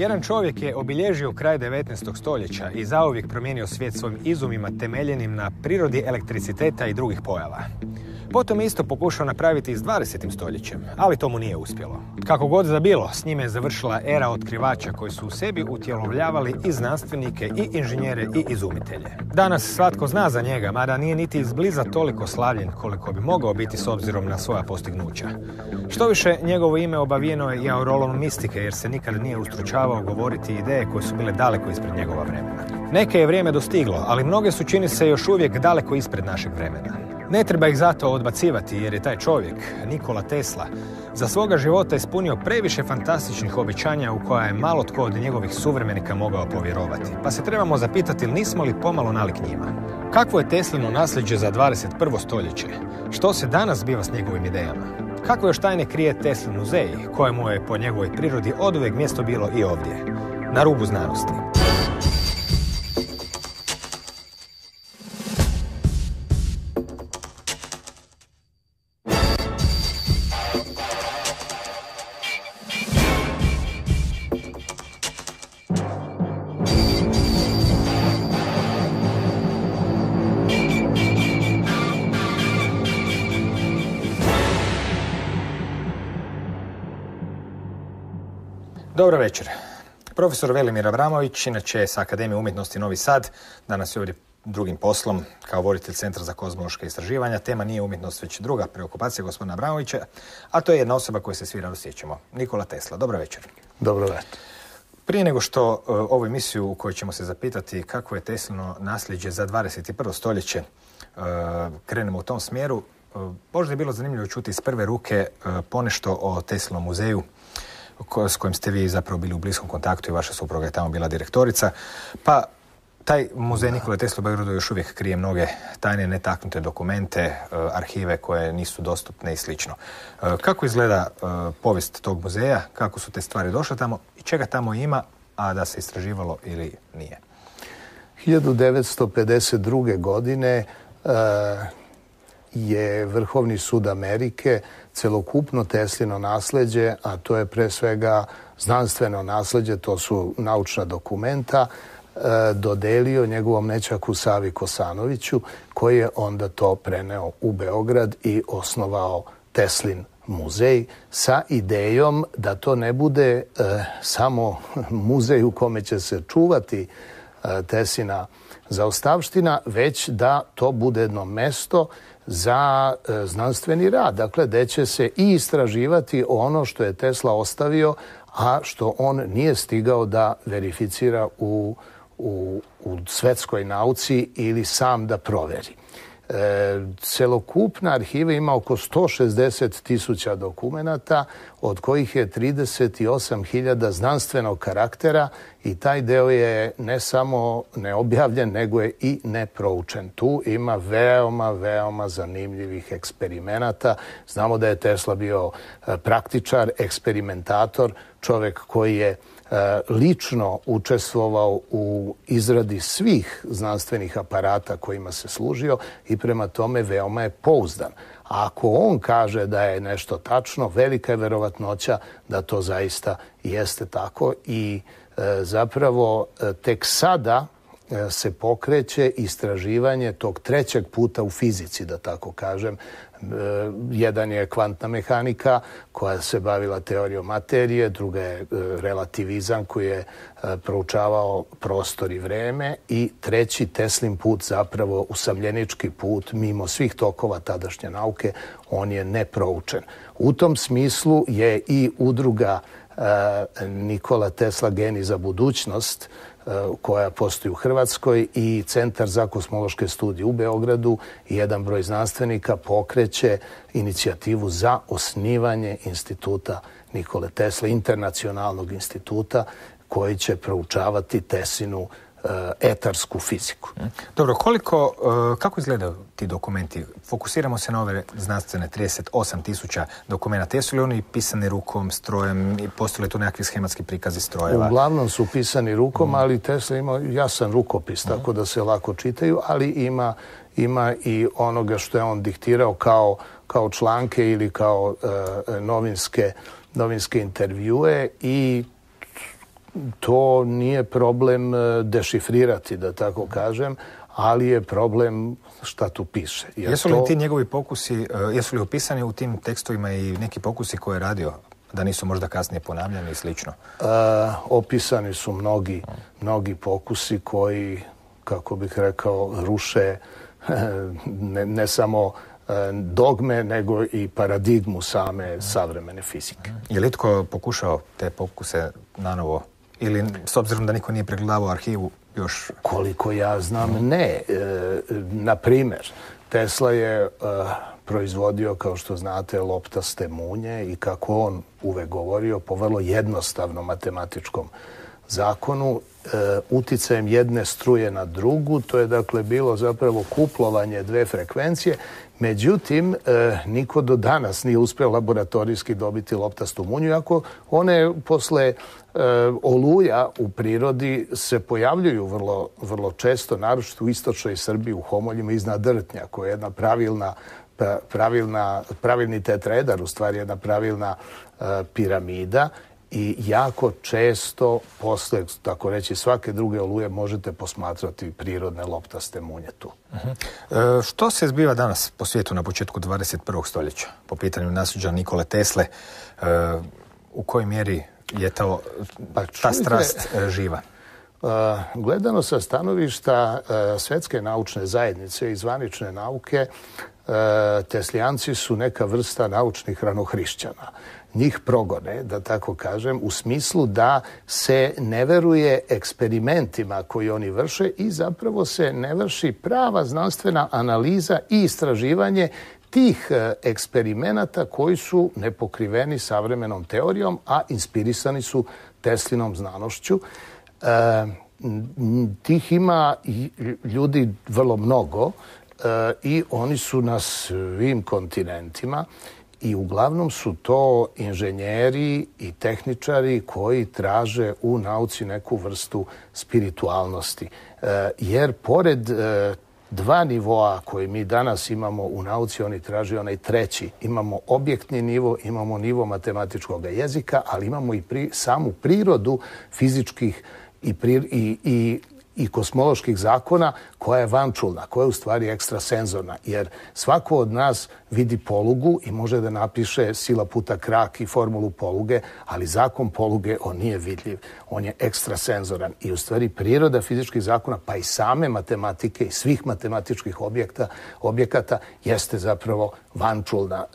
Jedan čovjek je obilježio kraj 19. stoljeća i zauvijek promijenio svijet svojim izumima temeljenim na prirodi elektriciteta i drugih pojava. Potom je isto pokušao napraviti i s 20. stoljećem, ali to mu nije uspjelo. Kako god da bilo, s njime je završila era otkrivača koji su u sebi utjelovljavali i znanstvenike, i inženjere, i izumitelje. Danas svatko zna za njega, mada nije niti izbliza toliko slavljen koliko bi mogao biti s obzirom na svoja postignuća. Štoviše, njegovo ime obavijeno je i aureolom mistike, jer se nikad nije ustručavao govoriti ideje koje su bile daleko ispred njegova vremena. Neke je vrijeme dostiglo, ali mnoge su, čini se, još uvijek daleko ispred našeg vremena. Ne treba ih zato odbacivati, jer je taj čovjek, Nikola Tesla, za svoga života ispunio previše fantastičnih obećanja u koja je malo tko od njegovih suvremenika mogao povjerovati. Pa se trebamo zapitati, nismo li pomalo nalik njima? Kakvo je Teslino nasljeđe za 21. stoljeće? Što se danas zbiva s njegovim idejama? Kakve još tajne krije Teslin muzej, kojemu je po njegovoj prirodi oduvijek mjesto bilo i ovdje, na rubu znanosti? Dobro večer. Profesor Velimir Abramović, inače s Akademije umjetnosti Novi Sad, danas je ovdje drugim poslom kao voditelj Centra za kozmološka istraživanja. Tema nije umjetnost, već druga preokupacija gospodina Abramovića, a to je jedna osoba koju se svi rado sjećamo, Nikola Tesla. Dobro večer. Dobro večer. Prije nego što ovu emisiju u kojoj ćemo se zapitati kako je Teslino nasljeđe za 21. stoljeće krenemo u tom smjeru, možda je bilo zanimljivo čuti iz prve ruke ponešto o Teslinom muzeju s kojim ste vi zapravo bili u bliskom kontaktu i vaša supruga je tamo bila direktorica. Pa taj muzej Nikole Tesle u Beogradu još uvijek krije mnoge tajne, netaknute dokumente, arhive koje nisu dostupne i slično. Kako izgleda povijest tog muzeja, kako su te stvari došle tamo i čega tamo ima, a da se istraživalo ili nije? 1952. godine je Vrhovni sud Amerike celokupno Teslino nasljeđe, a to je pre svega znanstveno nasljeđe, to su naučna dokumenta, dodelio njegovom nećaku Savi Kosanoviću, koji je onda to preneo u Beograd i osnovao Teslin muzej sa idejom da to ne bude samo muzej u kome će se čuvati Teslina zaostavština, već da to bude jedno mesto za znanstveni rad. Dakle, gde će se i istraživati ono što je Tesla ostavio, a što on nije stigao da verificira u svetskoj nauci ili sam da proveri. Celokupna arhiva ima oko 160.000 dokumenata, od kojih je 38.000 znanstvenog karaktera i taj deo je ne samo neobjavljen, nego je i neproučen. Tu ima veoma zanimljivih eksperimenata. Znamo da je Tesla bio praktičar, eksperimentator, čovjek koji je lično učestvovao u izradi svih znanstvenih aparata kojima se služio i prema tome veoma je pouzdan. A ako on kaže da je nešto tačno, velika je verovatnoća da to zaista jeste tako i zapravo tek sada se pokreće istraživanje tog trećeg puta u fizici, da tako kažem. Jedan je kvantna mehanika koja se bavila teorijom materije, druga je relativizam koji je proučavao prostor i vreme i treći Teslin put, zapravo usamljenički put, mimo svih tokova tadašnje nauke, on je neproučen. U tom smislu je i udruga Nikola Tesla Genij za budućnost, koja postoji u Hrvatskoj, i Centar za kosmološke studije u Beogradu i jedan broj znanstvenika pokreće inicijativu za osnivanje instituta Nikole Tesle, internacionalnog instituta koji će proučavati Teslinu etarsku fiziku. Dobro, kako izgledaju ti dokumenti? Fokusiramo se na ove znanstvene 38.000 dokumenta. Jesu li oni pisani rukom, strojem i postoje li tu nekakvi schematski prikazi strojeva? Uglavnom su pisani rukom, ali Tesla ima jasan rukopis, tako da se lako čitaju, ali ima i onoga što je on diktirao kao članke ili kao novinske intervjue i To nije problem dešifrirati, da tako kažem, ali je problem šta tu piše. Jesu li ti njegovi pokusi, jesu li opisani u tim tekstovima i neki pokusi koje je radio, da nisu možda kasnije ponavljani i slično? Opisani su mnogi pokusi koji, kako bih rekao, ruše ne samo dogme, nego i paradigmu same savremene fizike. Je li itko pokušao te pokuse nanovo? Ili, s obzirom da niko nije pregledavao arhivu, još... Koliko ja znam, ne. Na primjer, Tesla je proizvodio, kao što znate, loptaste munje i kako on uvek govorio, po vrlo jednostavnom matematičkom zakonu, uticajem jedne struje na drugu, to je dakle bilo zapravo kuplovanje dve frekvencije. Međutim, niko do danas nije uspeo laboratorijski dobiti loptastu munju, iako one posle oluja u prirodi se pojavljuju vrlo često, naročito u istočnoj Srbiji, u Homoljima iznad Drtnja, koja je jedna pravilni tetraedar, u stvari jedna pravilna piramida, i jako često posle, tako reći, svake druge oluje možete posmatrati prirodne loptaste munje tu. Što se zbiva danas po svijetu na početku 21. stoljeća po pitanju nasljeđa Nikole Tesle? U kojoj mjeri je ta strast živa? Gledano sa stanovišta svetske naučne zajednice i zvanične nauke, Teslijanci su neka vrsta naučnih ranohrišćana. Njih progone, da tako kažem, u smislu da se ne veruje eksperimentima koji oni vrše i zapravo se ne vrši prava znanstvena analiza i istraživanje tih eksperimenata koji su nepokriveni savremenom teorijom, a inspirisani su Teslinom znanošću. Tih ima ljudi vrlo mnogo i oni su na svim kontinentima i uglavnom su to inženjeri i tehničari koji traže u nauci neku vrstu spiritualnosti. Jer pored dva nivoa koje mi danas imamo u nauci, oni traže onaj treći. Imamo objektni nivo, imamo nivo matematičkog jezika, ali imamo i samu prirodu fizičkih i kosmoloških zakona koja je vančulna, koja je u stvari ekstrasenzorna. Jer svako od nas vidi polugu i može da napiše sila puta krak i formulu poluge, ali zakon poluge, on nije vidljiv. On je ekstrasenzoran. I u stvari priroda fizičkih zakona, pa i same matematike i svih matematičkih objekata jeste zapravo vančulna.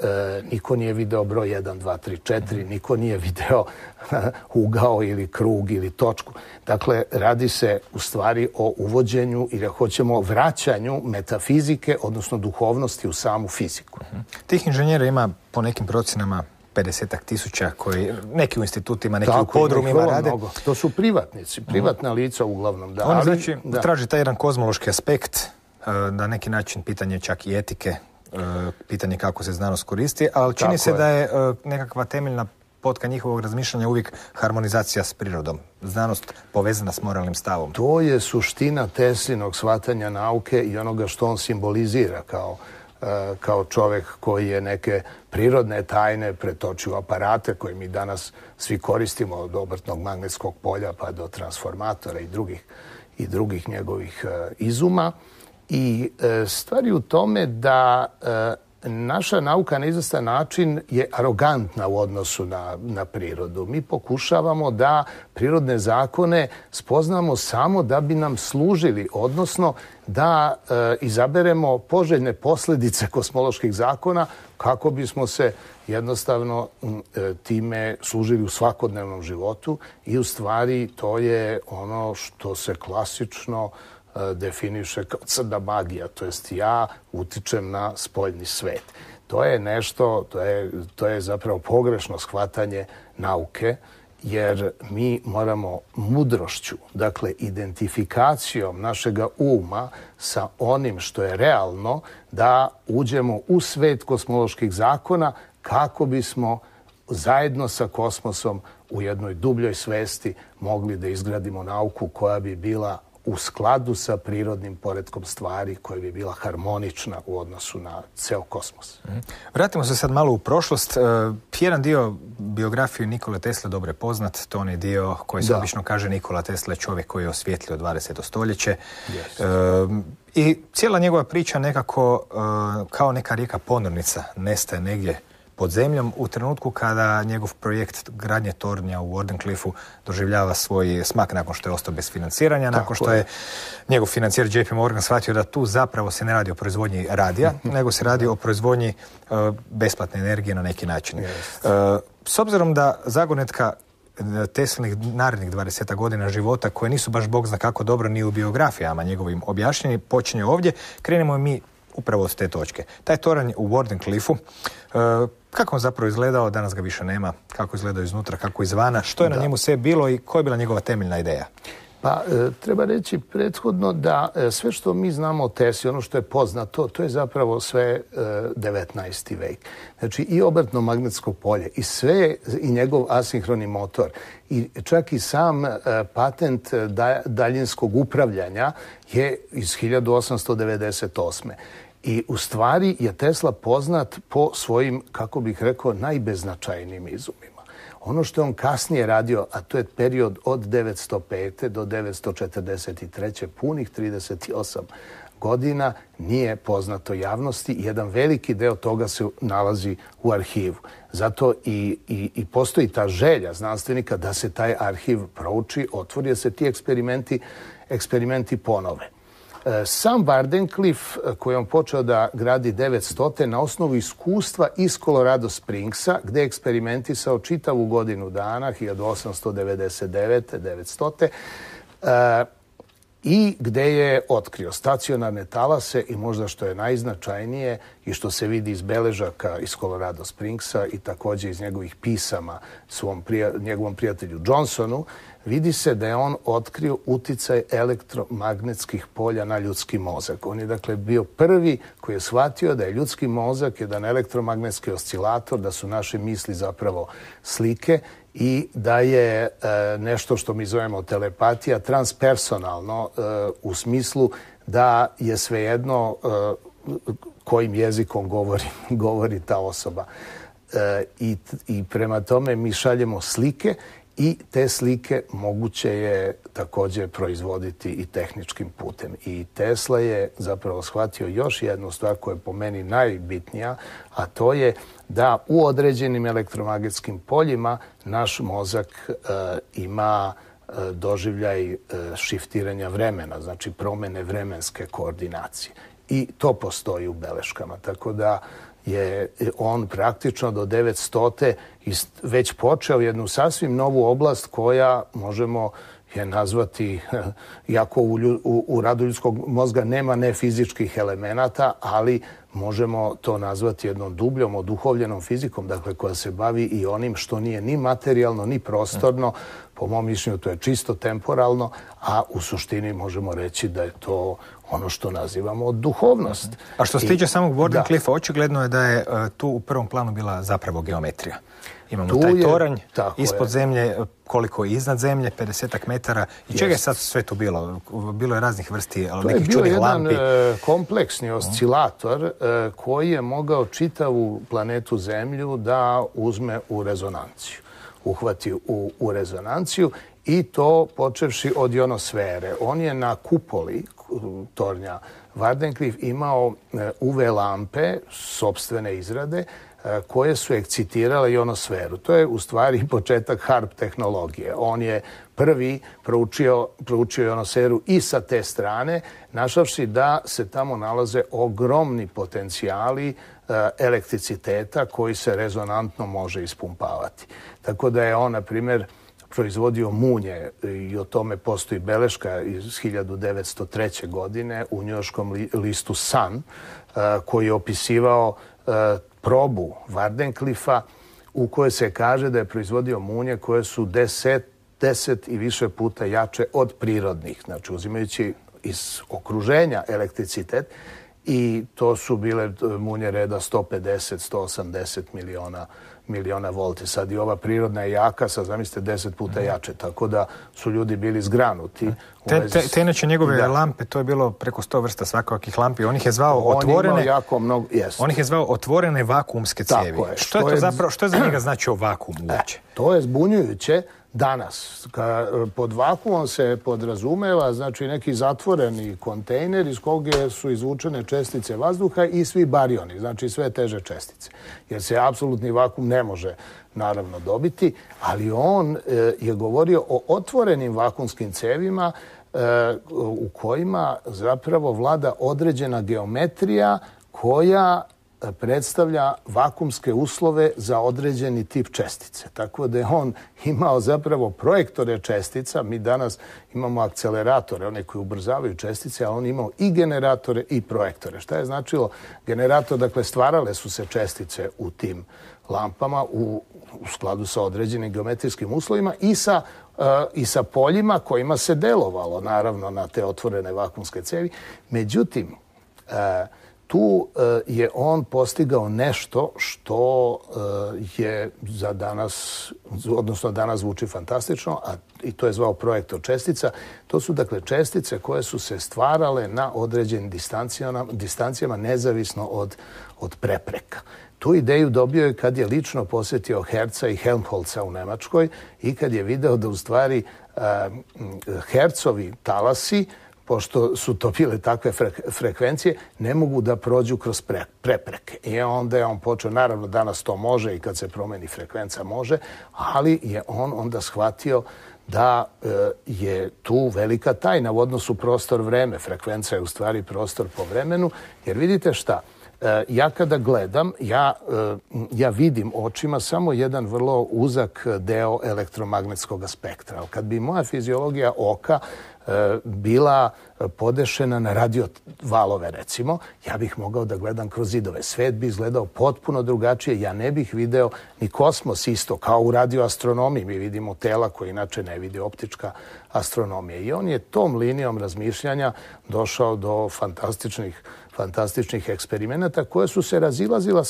Niko nije video broj 1, 2, 3, 4, niko nije video ugao ili krug ili točku. Dakle, radi se u stvari o uvođenju ili hoćemo vraćanju metafizike, odnosno duhovnosti u samu fiziku. Tih inženjera ima po nekim procenama 50.000 koji neki u institutima, neki u podrumima rade. Mnogo. To su privatnici, privatna lica uglavnom. Da, oni znači traži taj jedan kozmološki aspekt, na neki način pitanje čak i etike, pitanje kako se znanost koristi, ali čini se da je nekakva temeljna potka njihovog razmišljanja uvijek harmonizacija s prirodom. Znanost povezana s moralnim stavom. To je suština Teslinog shvatanja nauke i onoga što on simbolizira kao čovek koji je neke prirodne tajne pretočio u aparate koje mi danas svi koristimo, od obrtnog magnetskog polja pa do transformatora i drugih njegovih izuma. I stvari u tome da naša nauka na izvestan način je arogantna u odnosu na prirodu. Mi pokušavamo da prirodne zakone spoznamo samo da bi nam služili, odnosno da izaberemo poželjne posljedice kosmoloških zakona kako bismo se jednostavno time služili u svakodnevnom životu i u stvari to je ono što se klasično definiše kao crna magija, to jest ja utičem na spoljni svet. To je nešto, to je zapravo pogrešno shvatanje nauke, jer mi moramo mudrošću, dakle identifikacijom našega uma sa onim što je realno, da uđemo u svet kosmoloških zakona kako bismo zajedno sa kosmosom u jednoj dubljoj svesti mogli da izgradimo nauku koja bi bila u skladu sa prirodnim poretkom stvari koja bi bila harmonična u odnosu na ceo kosmos. Vratimo se sad malo u prošlost. Jedan dio biografije Nikole Tesle dobro je poznat. To onaj dio koji se obično kaže Nikola Tesla je čovjek koji je osvijetlio 20. stoljeće. I cijela njegova priča nekako kao neka rijeka ponornica nestaje negdje pod zemljom u trenutku kada njegov projekt gradnje tornja u Wardenclyffu doživljava svoj smak nakon što je ostao bez financiranja, nakon što je njegov financijer JP Morgan shvatio da tu zapravo se ne radi o proizvodnji radija, nego se radi o proizvodnji besplatne energije na neki način. S obzirom da zagonetka Teslinih narednih 20 godina života, koje nisu baš bog zna kako dobro ni u biografijama njegovim objašnjeni, počinje ovdje, krenemo mi upravo od te točke. Taj toranj u Wardenclyffu, kako on zapravo izgledao, danas ga više nema, kako izgledao iznutra, kako izvana, što je na njemu sve bilo i koja je bila njegova temeljna ideja? Pa, treba reći prethodno da sve što mi znamo o Tesli, ono što je poznato, to je zapravo sve 19. vek. Znači i obrtno magnetsko polje, i sve, i njegov asinhroni motor, i čak i sam patent daljinskog upravljanja je iz 1898. I u stvari je Tesla poznat po svojim, kako bih rekao, najbeznačajnijim izumima. Ono što je on kasnije radio, a to je period od 905. do 943. punih 38 godina, nije poznato javnosti. Jedan veliki deo toga se nalazi u arhivu. Zato i postoji ta želja znanstvenika da se taj arhiv prouči, otvori, da se ti eksperimenti ponove. Sam Wardenclyffe, koji on počeo da gradi 900. na osnovu iskustva iz Colorado Springsa, gde je eksperimentisao čitavu godinu dana, 1899. 900. I gde je otkrio stacionarne talase i možda što je najznačajnije i što se vidi iz beležaka iz Colorado Springsa i također iz njegovih pisama njegovom prijatelju Johnsonu, vidi se da je on otkrio uticaj elektromagnetskih polja na ljudski mozak. On je dakle bio prvi koji je shvatio da je ljudski mozak jedan elektromagnetski oscilator, da su naše misli zapravo slike i da je nešto što mi zovemo telepatija transpersonalno u smislu da je svejedno kojim jezikom govori ta osoba. I prema tome mi šaljemo slike i te slike moguće je također proizvoditi i tehničkim putem. I Tesla je zapravo shvatio još jednu stvar koja je po meni najbitnija, a to je da u određenim elektromagnetskim poljima naš mozak ima doživljaj šiftiranja vremena, znači promjene vremenske koordinacije. I to postoji u beleškama, tako da je on praktično do 900. već počeo jednu sasvim novu oblast koja možemo je nazvati, iako u radu ljudskog mozga nema nefizičkih elemenata, ali možemo to nazvati jednom dubljom, oduhovljenom fizikom, dakle koja se bavi i onim što nije ni materijalno, ni prostorno. Po mom mišljenju to je čisto temporalno, a u suštini možemo reći da je to ono što nazivamo duhovnost. A što se tiče samog Wardenclyffa, očigledno je da je tu u prvom planu bila zapravo geometrija. Imamo taj toranj ispod zemlje, koliko je iznad zemlje, 50 metara. I čega je sad sve tu bilo? Bilo je raznih vrsti nekih čudnih lampi. To je bio jedan kompleksni oscilator koji je mogao čitavu planetu Zemlju da uzme u rezonanciju. Uhvati u rezonanciju i to počevši od ionosfere. On je na kupoli tornja Wardenclyffe imao UV lampe sopstvene izrade koje su ekscitirale ionosferu. To je u stvari početak HARP tehnologije. On je prvi proučio ionosferu i sa te strane, našavši da se tamo nalaze ogromni potencijali elektriciteta koji se rezonantno može ispumpavati. Tako da je on, na primjer, proizvodio munje i o tome postoji beleška iz 1903. godine u njujorškom listu Sun koji je opisivao probu Wardenclyffa u kojoj se kaže da je proizvodio munje koje su 10 i više puta jače od prirodnih, znači uzimajući iz okruženja elektricitet, i to su bile munje reda 150-180 miliona miliona volti. Sad i ova prirodna je jaka, sad zamislite 10 puta jače, tako da su ljudi bili zgranuti. Te inače njegove lampe, to je bilo preko 100 vrsta svakakih lampi. On ih je zvao on ih je zvao otvorene vakuumske cijevi. Što je za njega značio vakuum uopće? To je zbunjujuće danas. Pod vakuumom se podrazumeva znači neki zatvoreni kontejner iz kog su izvučene čestice vazduha i svi barioni, znači sve teže čestice. Jer se apsolutni vakuum ne može naravno dobiti, ali on je govorio o otvorenim vakuumskim cevima u kojima zapravo vlada određena geometrija koja predstavlja vakuumske uslove za određeni tip čestice. Tako da je on imao zapravo projektore čestica. Mi danas imamo akceleratore, one koji ubrzavaju čestice, a on imao i generatore i projektore. Šta je značilo generator? Dakle, stvarale su se čestice u tim lampama u skladu sa određenim geometrijskim uslovima i sa poljima kojima se delovalo, naravno, na te otvorene vakuumske cevi. Međutim, tu je on postigao nešto što je za danas, odnosno danas zvuči fantastično, i to je zvao projektor čestica. To su dakle čestice koje su se stvarale na određenim distancijama nezavisno od prepreka. Tu ideju dobio je kad je lično posjetio Herca i Helmholtza u Nemačkoj i kad je video da u stvari Hercovi talasi, pošto su to bile takve frekvencije, ne mogu da prođu kroz prepreke. I onda je on počeo, naravno danas to može i kad se promeni frekvenca može, ali je on onda shvatio da je tu velika tajna u odnosu prostor-vreme. Frekvenca je u stvari prostor po vremenu, jer vidite šta, ja kada gledam, ja vidim očima samo jedan vrlo uzak deo elektromagnetskog spektra. Ali kad bi moja fiziologija oka bila podešena na radio valove, recimo, ja bih mogao da gledam kroz zidove. Svet bi izgledao potpuno drugačije. Ja ne bih video ni kosmos isto, kao u radioastronomiji. Mi vidimo tela koje inače ne vidi optička astronomija. I on je tom linijom razmišljanja došao do fantastičnih eksperimenata koje su se razilazila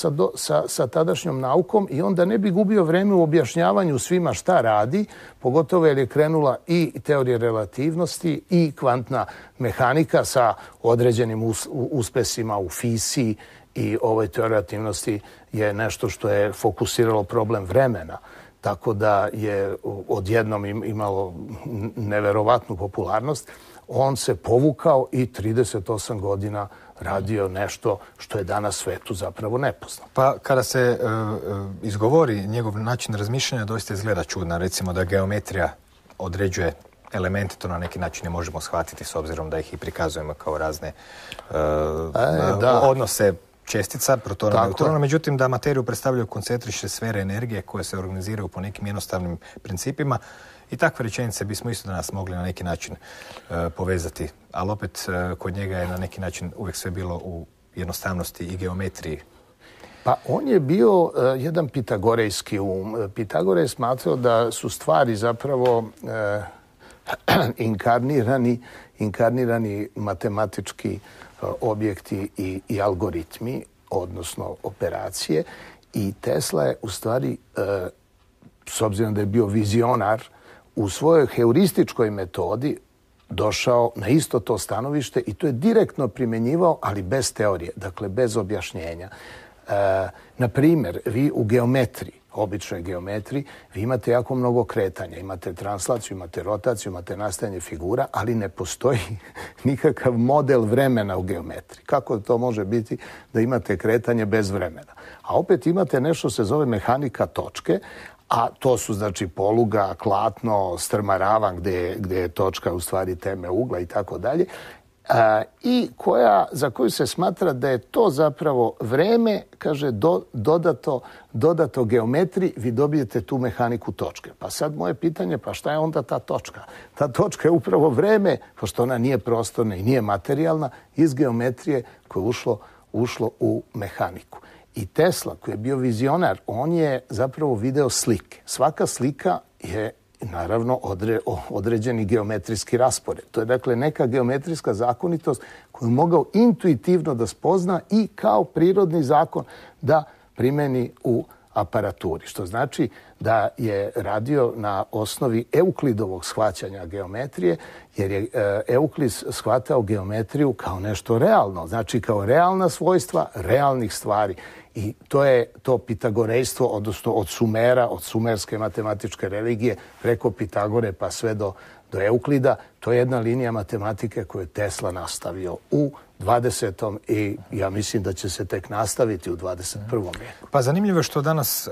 sa tadašnjom naukom i onda ne bi gubio vreme u objašnjavanju svima šta radi, pogotovo jer je krenula i teorija relativnosti i kvantna mehanika sa određenim uspesima u fiziji i ovoj teoriji relativnosti je nešto što je fokusiralo problem vremena. Tako da je odjednom imalo neverovatnu popularnost. On se povukao i 38 godina radio nešto što je danas svetu zapravo nepoznato. Pa kada se izgovori njegov način razmišljanja, doista izgleda čudno. Recimo da geometrija određuje elemente, to na neki način ne možemo shvatiti s obzirom da ih i prikazujemo kao razne odnose čestica, protona, neutrona, međutim da materiju predstavljaju koncentrične sfere energije koje se organiziraju po nekim jednostavnim principima. I takve rečenice bismo isto danas mogli na neki način povezati, ali opet kod njega je na neki način uvijek sve bilo u jednostavnosti i geometriji. Pa on je bio jedan pitagorejski um. Pitagore je smatrao da su stvari zapravo inkarnirani matematički objekti i algoritmi, odnosno operacije. I Tesla je u stvari, s obzirom da je bio vizionar, u svojoj heurističkoj metodi došao na isto to stanovište i to je direktno primjenjivao, ali bez teorije, dakle bez objašnjenja. Na primjer, vi u geometriji, običnoj geometriji, vi imate jako mnogo kretanja. Imate translaciju, imate rotaciju, imate nastajanje figura, ali ne postoji nikakav model vremena u geometriji. Kako to može biti da imate kretanje bez vremena? A opet imate nešto se zove mehanika točke, a to su znači poluga, klatno, strmaravan gdje je točka u stvari teme ugla i tako dalje. I za koju se smatra da je to zapravo vreme, kaže, dodato geometriji, vi dobijete tu mehaniku točke. Pa sad moje pitanje, pa šta je onda ta točka? Ta točka je upravo vreme, pošto ona nije prostorna i nije materijalna, iz geometrije koje je ušlo u mehaniku. I Tesla, koji je bio vizionar, on je zapravo video slike. Svaka slika je naravno određeni geometrijski raspored. To je dakle neka geometrijska zakonitost koju je mogao intuitivno da spozna i kao prirodni zakon da primeni u aparaturi. Što znači da je radio na osnovi Euklidovog shvaćanja geometrije, jer je Euklid shvatao geometriju kao nešto realno, znači kao realna svojstva realnih stvari. I to je to pitagorejstvo, odnosno od Sumera, od sumerske matematičke religije, preko Pitagore pa sve do Euklida. To je jedna linija matematike koju je Tesla nastavio u 20. i ja mislim da će se tek nastaviti u 21. vijeku. Pa zanimljivo je što danas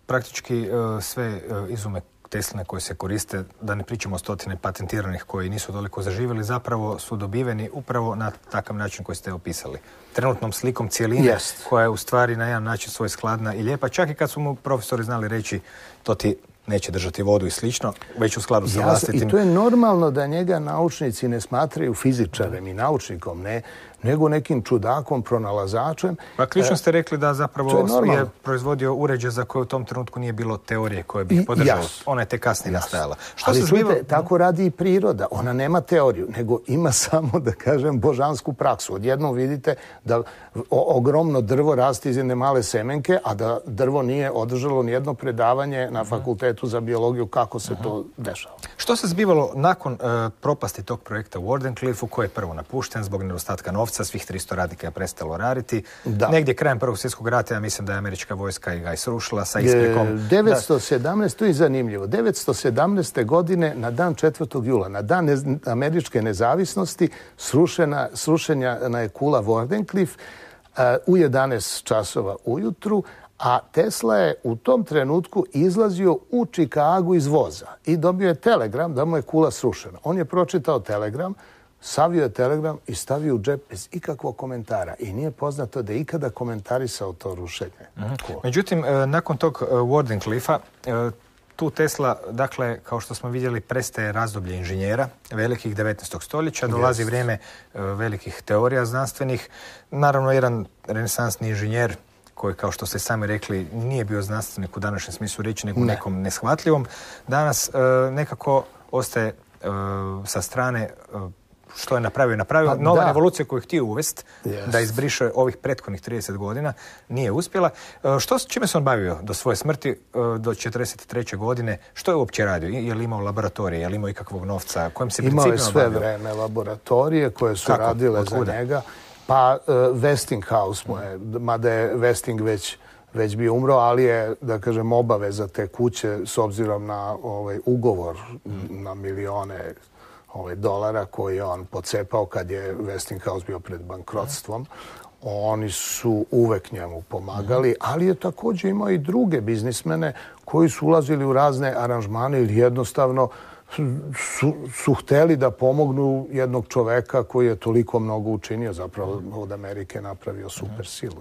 praktički sve izume Tesline koje se koriste, da ne pričamo o stotine patentiranih koji nisu toliko zaživjeli, zapravo su dobiveni upravo na takav način koji ste opisali. Trenutnom slikom cijeline koja je u stvari na jedan način svoj skladna i lijepa. Čak i kad su mu profesori znali reći to ti neće držati vodu i slično, već u skladu sa vlastitim. I to je normalno da njega naučnici ne smatraju fizičarem i naučnikom, nego nekim čudakom, pronalazačem. Pa ključno ste rekli da zapravo je proizvodio uređaj za koje u tom trenutku nije bilo teorije koje bi ih podržalo. Ona je te kasnije nastajala. Ali čujte, tako radi i priroda. Ona nema teoriju, nego ima samo, da kažem, božansku praksu. Odjednom vidite da ogromno drvo raste iz jedne male semenke, a da drvo nije održalo nijedno predavanje na fakultetu za biologiju kako se to dešava. Što se zbivalo nakon propasti tog projekta u Wardenclyffe-u, koji je prvo napušten zbog nedostatka novca, svih 300 radnika je prestalo raditi. Negdje krajem Prvog svjetskog rata, ja mislim da je američka vojska ga srušila sa isprikom. 917, to je zanimljivo, 917. godine na dan 4. jula, na dan američke nezavisnosti, srušena je kula Wardenclyffe u 11 časova ujutru, a Tesla je u tom trenutku izlazio u Čikagu iz voza i dobio je telegram da mu je kula srušena. On je pročitao telegram, savio je telegram i stavio u džep bez ikakvog komentara. I nije poznato da je ikada komentarisao to rušenje. Međutim, nakon tog Wardenclyffe-a, tu Tesla, dakle, kao što smo vidjeli, prestaje razdoblje inženjera velikih 19. stoljeća, dolazi vrijeme velikih teorija znanstvenih. Naravno, jedan renesansni inženjer koji, kao što ste sami rekli, nije bio znanstvenik u današnjem smislu riječi, nego nekom neshvatljivom, danas nekako ostaje sa strane što je napravio. Nova revolucija koju je htio uvesti, da izbriše ovih prethodnih 30 godina, nije uspjela. Čime se on bavio do svoje smrti, do 43. godine? Što je uopće radio? Je li imao laboratorije? Je li imao ikakvog novca? Kojim se principima bavio? Imao je sve vreme laboratorije koje su radile za njega. Pa Westinghouse mu je, mada je Westing već bio umro, ali je, da kažem, obaveza te kuće s obzirom na ugovor na milione dolara koji je on pocepao kad je Westinghouse bio pred bankrotstvom. Oni su uvek njemu pomagali, ali je također imao i druge biznismene koji su ulazili u razne aranžmane ili jednostavno su hteli da pomognu jednog čoveka koji je toliko mnogo učinio, zapravo od Amerike napravio super silu.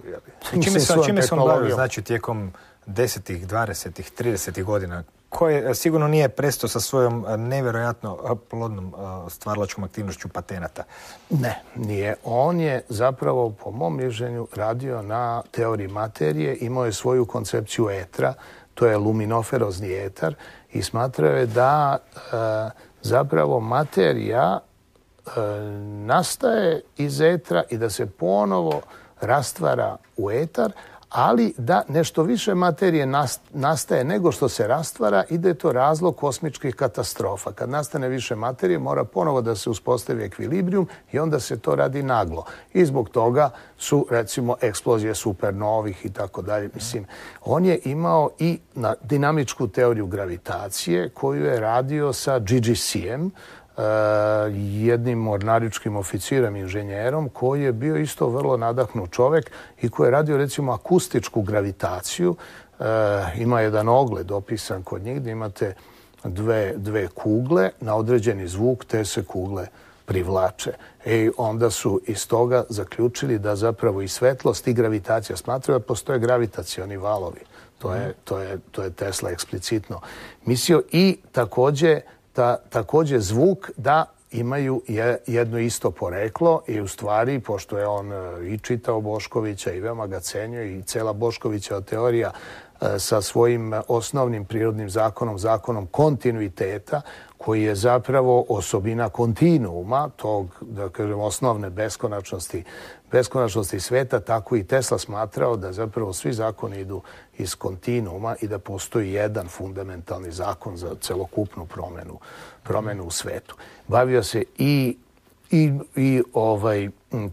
Čime se on bavio, znači, tijekom 10., 20., 30. godina, koje sigurno nije prestao sa svojom nevjerojatno plodnom stvaralačkom aktivnošću patenata? Ne, nije. On je zapravo, po mom mišljenju, radio na teoriji materije, imao je svoju koncepciju etra, to je luminoferozni etar, i smatrao je da zapravo materija nastaje iz etra i da se ponovo rastvara u etar, ali da nešto više materije nastaje nego što se rastvara i da je to razlog kosmičkih katastrofa. Kad nastane više materije, mora ponovo da se uspostavi ekvilibrijum i onda se to radi naglo. I zbog toga su, recimo, eksplozije supernovih i tako dalje. Mislim, on je imao i dinamičku teoriju gravitacije koju je radio sa GGC-em, jednim mornaričkim oficirom, inženjerom, koji je bio isto vrlo nadahnut čovjek i koji je radio, recimo, akustičku gravitaciju. Ima jedan ogled opisan kod njih gdje imate dve kugle na određeni zvuk, te se kugle privlače. I onda su iz toga zaključili da zapravo i svetlost i gravitacija, smatraju da postoje gravitacioni valovi. To je Tesla eksplicitno mislio. I također zvuk da imaju jedno isto poreklo i u stvari, pošto je on i čitao Boškovića i veoma ga cenio i cela Boškovićeva teorija sa svojim osnovnim prirodnim zakonom kontinuiteta, koji je zapravo osobina kontinuuma, tog, da kažem, osnovne beskonačnosti beskonačnosti sveta, tako i Tesla smatrao da zapravo svi zakoni idu iz kontinuuma i da postoji jedan fundamentalni zakon za celokupnu promenu u svetu. Bavio se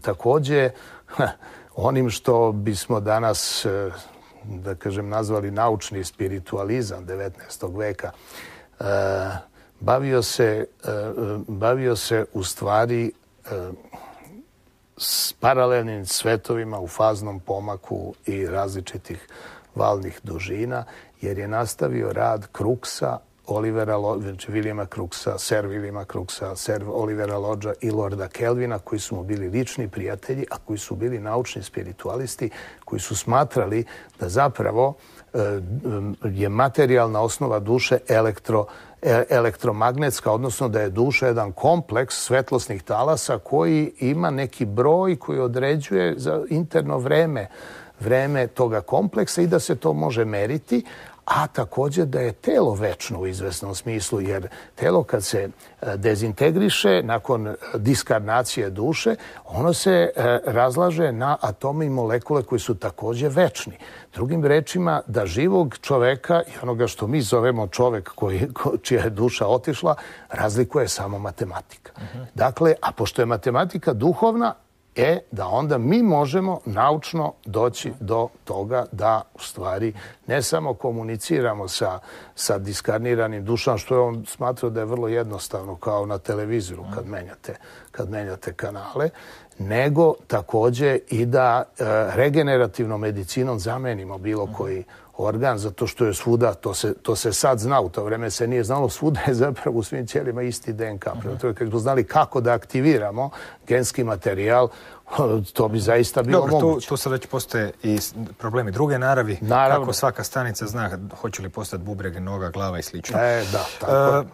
takođe onim što bismo danas, da kažem, nazvali naučni spiritalizam 19. veka. Bavio se u stvari s paralelnim svetovima u faznom pomaku i različitih valnih dužina, jer je nastavio rad Crookesa, Williama Crookesa, Sir Williama Crookesa, Sir Olivera Lodgea i Lorda Kelvina, koji su mu bili lični prijatelji, a koji su bili naučni spiritualisti, koji su smatrali da zapravo je materijalna osnova duše elektromagnetska, odnosno da je duša jedan kompleks svetlosnih talasa koji ima neki broj koji određuje za interno vreme toga kompleksa i da se to može meriti, a također da je telo večno u izvesnom smislu, jer telo kad se dezintegriše nakon diskarnacije duše, ono se razlaže na atome i molekule koji su također večni. Drugim rečima, da živog čoveka i onoga što mi zovemo čovek čija je duša otišla, razlikuje samo matematika. Dakle, a pošto je matematika duhovna, da onda mi možemo naučno doći do toga da u stvari ne samo komuniciramo sa diskarniranim dušama, što je on smatrao da je vrlo jednostavno kao na televizoru kad menjate kanale, nego također i da regenerativnom medicinom zamenimo bilo koji organ, zato što je svuda, to se sad zna, u to vreme se nije znalo, svuda je zapravo u svim ćelijama isti DNK. Kad bi znali kako da aktiviramo genski materijal, to bi zaista bilo moguće. Dobro, tu sad već postoje i problemi druge naravi. Naravno. Kako svaka stanica zna hoće li postati bubreg, noga, glava i slično. Da, tako.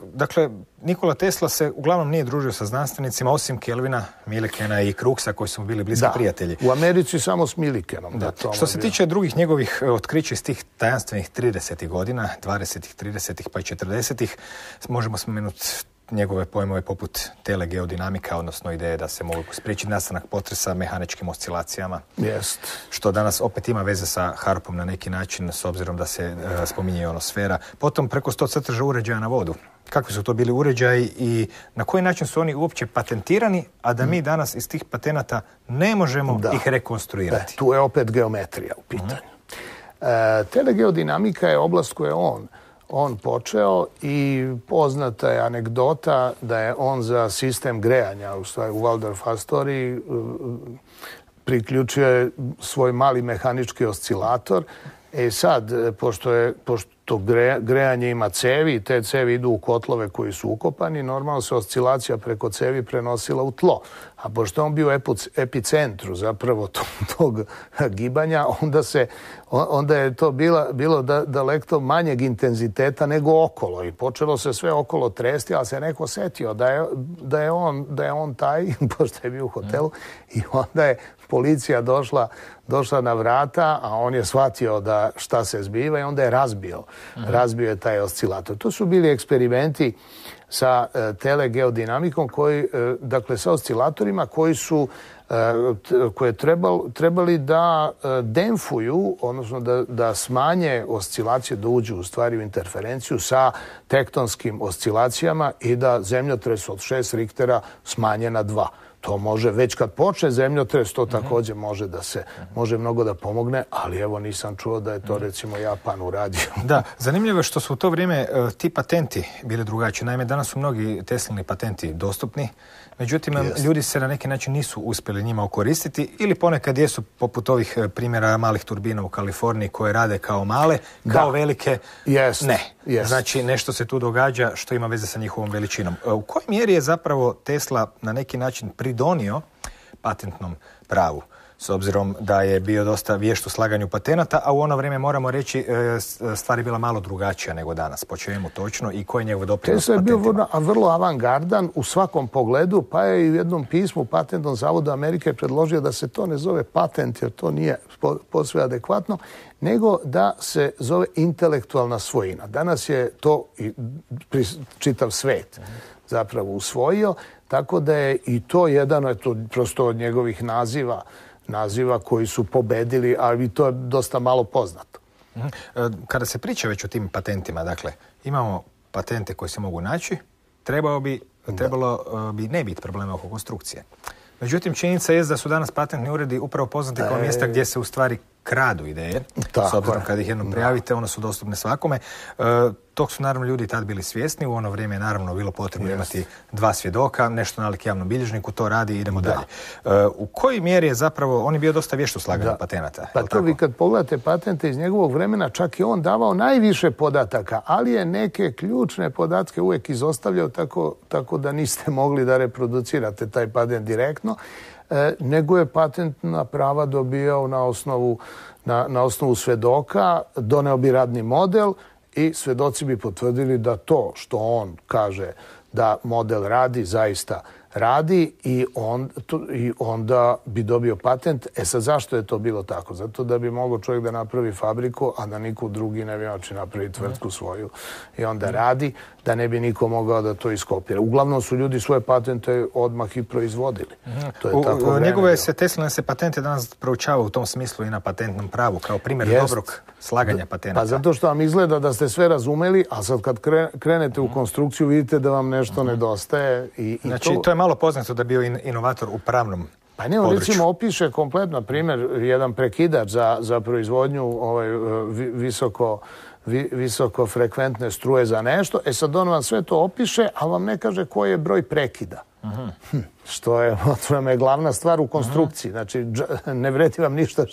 Dakle, Nikola Tesla se uglavnom nije družio sa znanstvenicima, osim Kelvina, Millikena i Crookesa, koji su mu bili bliski prijatelji. U Americi samo s Millikenom. Što se tiče drugih njegovih otkrića iz tih tajanstvenih 30. godina, 20. 30. pa i 40. možemo spomenuti njegove pojmove poput telegeodinamika, odnosno ideje da se mogu spriječiti nastanak potresa mehaničkim oscilacijama. Što danas opet ima veze sa Harpom na neki način, s obzirom da se spominje ionosfera. Potom preko 100 crteža uređaja na vodu. Kakvi su to bili uređaji i na koji način su oni uopće patentirani, a da mi danas iz tih patenata ne možemo ih rekonstruirati? Tu je opet geometrija u pitanju. Telegeodinamika je oblast koju je on počeo i poznata je anegdota da je on za sistem grejanja u Waldorf Astoriji priključio svoj mali mehanički oscilator. Sad, pošto grejanje ima cevi i te cevi idu u kotlove koji su ukopani, normalno se oscilacija preko cevi prenosila u tlo. A pošto on bio u epicentru zapravo tog gibanja, onda je to bilo daleko manjeg intenziteta nego okolo i počelo se sve okolo tresti, ali se neko setio da je on taj, pošto je bio u hotelu, i onda je policija došla na vrata, a on je shvatio da šta se zbiva i onda je razbio je taj oscilator. To su bili eksperimenti sa telegeodinamikom, dakle sa oscilatorima koje trebali da demfuju, odnosno da smanje oscilacije, da uđu u stvari u interferenciju sa tektonskim oscilacijama i da zemljotres od 6 Richtera smanje na 2. To može, već kad počne zemljotres, to također može mnogo da pomogne, ali evo nisam čuo da je to recimo Japan uradio. Da, zanimljivo je što su u to vrijeme ti patenti bili drugačiji. Naime, danas su mnogi Teslini patenti dostupni, međutim, ljudi se na neki način nisu uspjeli njima okoristiti ili ponekad jesu poput ovih primjera malih turbina u Kaliforniji koje rade kao male, kao velike. Ne. Znači, nešto se tu događa što ima veze sa njihovom veličinom. U kojoj mjeri je zapravo Tesla na neki način pridonio patentnom pravu? s obzirom da je bio dosta vješt u slaganju patenata, a u ono vrijeme moramo reći stvar je bila malo drugačija nego danas. Po čemu točno i koji je njegov doprinos patentima? Tesla je bio vrlo avangardan u svakom pogledu, pa je i u jednom pismu Patentnom zavodu Amerike predložio da se to ne zove patent, jer to nije posve adekvatno, nego da se zove intelektualna svojina. Danas je to čitav svet zapravo usvojio, tako da je i to jedan prosto od njegovih naziva koji su pobedili, ali to je dosta malo poznato. Kada se priča već o tim patentima, dakle, imamo patente koji se mogu naći, trebalo bi ne biti problema oko konstrukcije. Međutim, činjenica je da su danas patentni uredi upravo poznati kao mjesta gdje se u stvari kradu ideje. S obzirom kad ih jednom prijavite, one su dostupne svakome. Tog su naravno ljudi tad bili svjesni. U ono vrijeme je naravno bilo potrebno imati 2 svjedoka, nešto nalik javnom bilježniku, to radi i idemo dalje. U kojoj mjeri je zapravo, on je bio dosta vješt u slaganju patenata? Pa to vi kad pogledate patente iz njegovog vremena, čak i on davao najviše podataka, ali je neke ključne podatke uvijek izostavljao tako da niste mogli da reproducirate taj patent direktno, nego je patentna prava dobijao na osnovu svedoka, doneo bi radni model i svedoci bi potvrdili da to što on kaže da model radi, zaista radi i onda bi dobio patent. Sad, zašto je to bilo tako? Zato da bi mogao čovjek da napravi fabriku, a da niko drugi ne bi moći napraviti tvrtku svoju i onda radi, da ne bi niko mogao da to iskopira. Uglavnom su ljudi svoje patente odmah i proizvodili. Njegove Tesline se patente danas proučava u tom smislu i na patentnom pravu, kao primjer dobrog slaganja patenata. Pa zato što vam izgleda da ste sve razumeli, a sad kad krenete u konstrukciju vidite da vam nešto nedostaje. Znači, to je malo poznato da je bio inovator u pravnom Pa ne, on recimo opiše kompletno, primjer, jedan prekidač za proizvodnju visoko frekventne struje za nešto. Sad on vam sve to opiše, ali vam ne kaže koji je broj prekida. Što je glavna stvar u konstrukciji. Znači, ne vredi vam ništa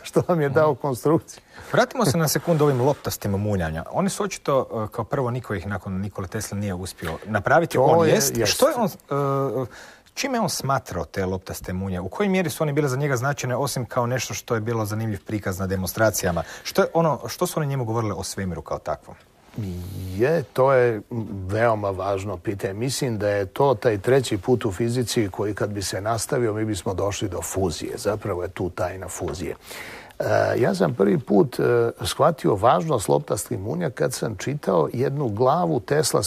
što vam je dao konstrukciju. Vratimo se na sekundu ovim loptastim munjanja. Oni su očito, kao prvo, niko ih nakon Nikole Tesle nije uspio napraviti. On jest. Što je on... Čime je on smatrao te loptaste munje? U kojoj mjeri su oni bile za njega značajne, osim kao nešto što je bilo zanimljiv prikaz na demonstracijama? Što su oni njemu govorili o svemiru kao takvom? To je veoma važno pitanje. Mislim da je to taj treći put u fizici koji kad bi se nastavio, mi bismo došli do fuzije. Zapravo je tu tajna fuzije. Ja sam prvi put shvatio važnost loptastih munja kad sam čitao jednu glavu Tesla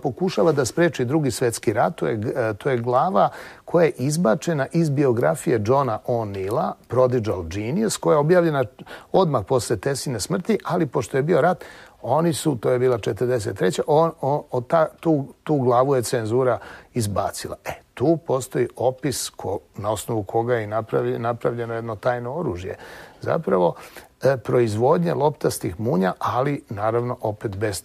pokušava da spreči Drugi svjetski rat. To je glava koja je izbačena iz biografije Johna O'Neilla, Prodigal Genius, koja je objavljena odmah posle Tesline smrti, ali pošto je bio rat, to je bila 43. Tu glavu je cenzura izbacila. Tu postoji opis na osnovu koga je napravljeno jedno tajno oružje. Zapravo, proizvodnje loptastih munja, ali naravno opet bez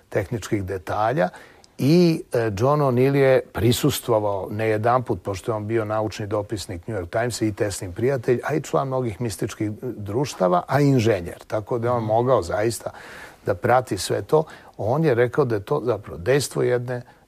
tehničkih detalja. I John O'Neill je prisustvovao ne jedanput, pošto je on bio naučni dopisnik New York Timesa i Teslin prijatelj, a i član mnogih mističkih društava, a inženjer. Tako da je on mogao zaista da prati sve to. On je rekao da je to zapravo dejstvo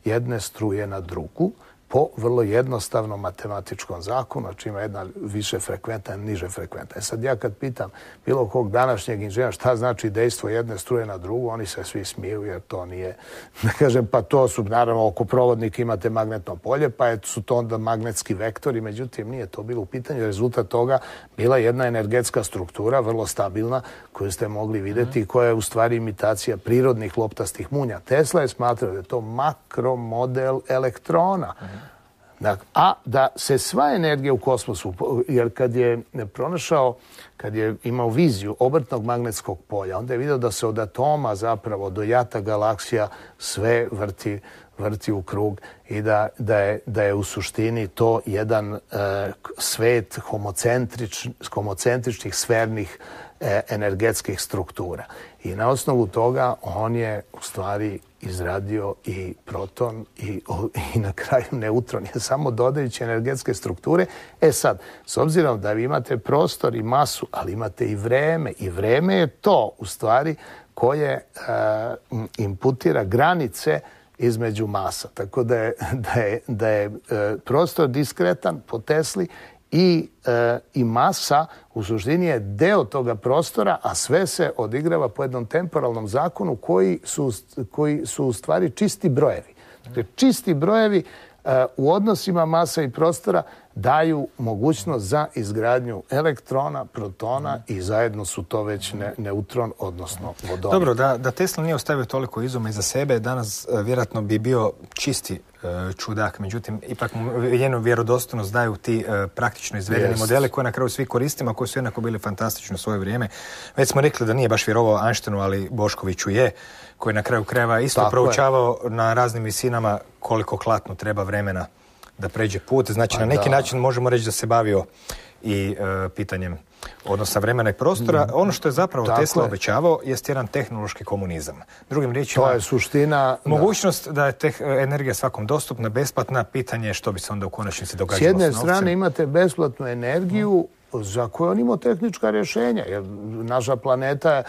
jedne struje na drugu po vrlo jednostavnom matematičkom zakonu, znači ima jedna više frekventna i niže frekventna. Sad ja kad pitam bilo kog današnjeg inženjera šta znači dejstvo jedne struje na drugu, oni se svi smiju jer to nije, da kažem, pa to su, naravno, oko provodnika imate magnetno polje, pa su to onda magnetski vektori, međutim nije to bilo u pitanju. Rezultat toga bila jedna energetska struktura, vrlo stabilna, koju ste mogli vidjeti i koja je u stvari imitacija prirodnih loptastih munja. Tesla je smatrao da je to makromodel elektrona. A da se sva energija u kosmosu, jer kad je imao viziju obrtnog magnetskog polja, onda je vidio da se od atoma zapravo do jata galaksija sve vrti u krug i da je u suštini to jedan svet homocentričnih sfernih energetskih struktura. I na osnovu toga on je u stvari izradio i proton i na kraju neutron, je samo dodajući energetske strukture. Sad, s obzirom da vi imate prostor i masu, ali imate i vreme je to u stvari koje imputira granice između masa. Tako da je prostor diskretan po Tesli i masa u suštini je deo toga prostora, a sve se odigrava po jednom temporalnom zakonu koji su u stvari čisti brojevi. Dakle, čisti brojevi u odnosima masa i prostora daju mogućnost za izgradnju elektrona, protona i zajedno su to već neutron, odnosno vodonik. Dobro, da Tesla nije ostavio toliko izuma iza sebe, danas vjerojatno bi bio čisti čudak. Međutim, ipak mu jednu vjerodostojnost daju ti praktično izvedeni modele koje na kraju svi koristimo, koji su jednako bili fantastični u svoje vrijeme. Već smo rekli da nije baš vjerovao Einsteinu, ali Boškoviću je, koji na kraju krajeva isto proučavao na raznim visinama koliko klatno treba vremena da pređe put. Znači, na neki način možemo reći da se bavio i pitanjem odnosa vremena i prostora. Ono što je zapravo Tesla obećavao jest jedan tehnološki komunizam. Drugim riječima, to je suština. Mogućnost da je energija svakom dostupna, besplatna, pitanje je što bi se onda u konačnici događalo s novcem. S jedne strane imate besplatnu energiju za koju on imao tehnička rješenja. Jer naša planeta,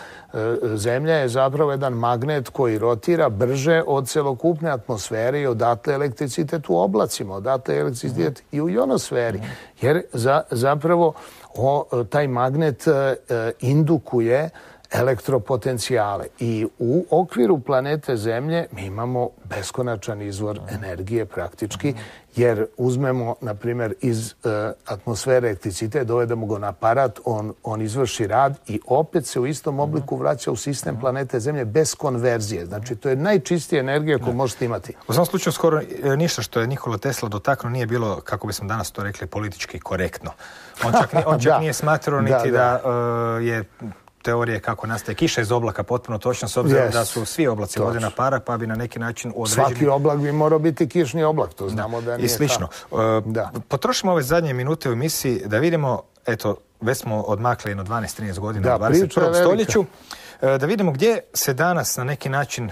Zemlja, je zapravo jedan magnet koji rotira brže od celokupne atmosfere i odatle elektricitet u oblacima, odatle elektricitet i u ionosferi. Jer zapravo taj magnet indukuje elektropotencijale. I u okviru planete Zemlje mi imamo beskonačan izvor energije praktički, jer uzmemo, na primjer, iz atmosfere elektricitet, dovedemo ga na aparat, on izvrši rad i opet se u istom obliku vraća u sistem planete Zemlje bez konverzije. Znači, to je najčistija energija koju možete imati. U svom slučaju skoro ništa što je Nikola Tesla dotaknuo nije bilo, kako bismo danas to rekli, politički korektno. On čak nije smatrao niti da je teorije kako nastaje kiša iz oblaka potpuno točno, s obzirom da su svi oblaci vodena para, pa bi na neki način određeni... Svaki oblak bi morao biti kišni oblak, to znamo da nije. I slično. Potrošimo ove zadnje minute u emisiji da vidimo, eto, već smo odmakli jedno 12-13 godina u 21. stoljeću, da vidimo gdje se danas na neki način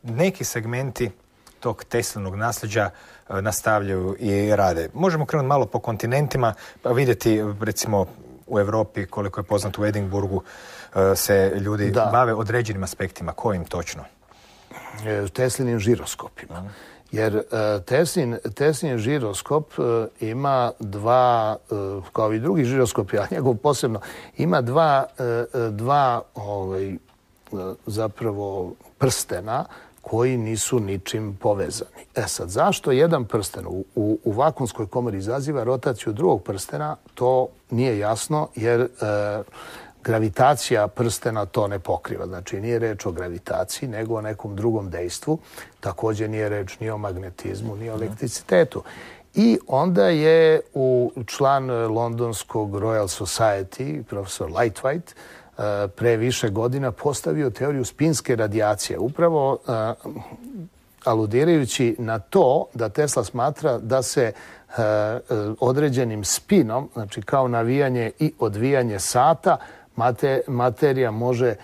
neki segmenti tog Teslinog nasljeđa nastavljaju i rade. Možemo krenuti malo po kontinentima, pa vidjeti, recimo, u Europi, koliko je poznato u Edinburgu, se ljudi bave određenim aspektima. Kojim točno? Teslinim žiroskopima. Jer Teslin žiroskop ima dva, kao i drugi žiroskopi, a njegov posebno, ima dva zapravo prstena koji nisu ničim povezani. Sad, zašto jedan prsten u vakuumskoj komori izaziva rotaciju drugog prstena, to nije jasno, jer gravitacija prstena to ne pokriva. Znači, nije reč o gravitaciji, nego o nekom drugom dejstvu. Također nije reč ni o magnetizmu, ni o elektricitetu. I onda je član londonskog Royal Society, profesor Lightwhite, pre više godina postavio teoriju spinske radijacije. Upravo aludirajući na to da Tesla smatra da se određenim spinom, znači kao navijanje i odvijanje sata, materija može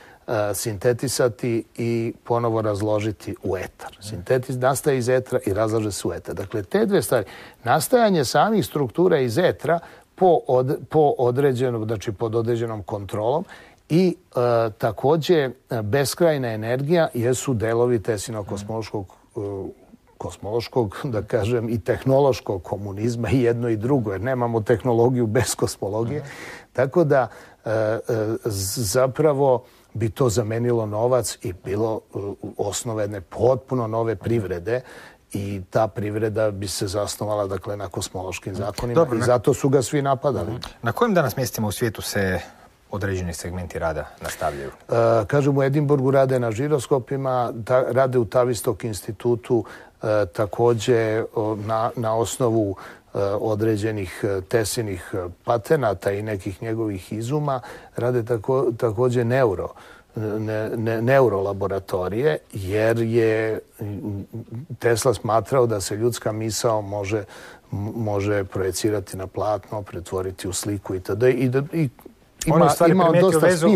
sintetisati i ponovo razložiti u etar. Sintetis nastaje iz etra i razlaže se u etar. Dakle, te dve stvari. Nastajanje samih struktura iz etra po određenom, znači pod određenom kontrolom i također beskrajna energija jesu delovi Teslinog kosmološkog, da kažem, i tehnološkog komunizma, i jedno i drugo, jer nemamo tehnologiju bez kosmologije. Tako da zapravo bi to zamenilo novac i bilo osnove jedne potpuno nove privrede i ta privreda bi se zasnovala, dakle, na kosmološkim zakonima. I zato su ga svi napadali. Na kojim danas mjestima u svijetu se određeni segmenti rada nastavljaju? Kažem, u Edinburgu rade na žiroskopima, rade u Tavistock institutu, također na osnovu određenih Teslinih patenata i nekih njegovih izuma, rade također neurolaboratorije, jer je Tesla smatrao da se ljudska misao može projecirati na platno, pretvoriti u sliku itd. On je u stvari primijetio vezu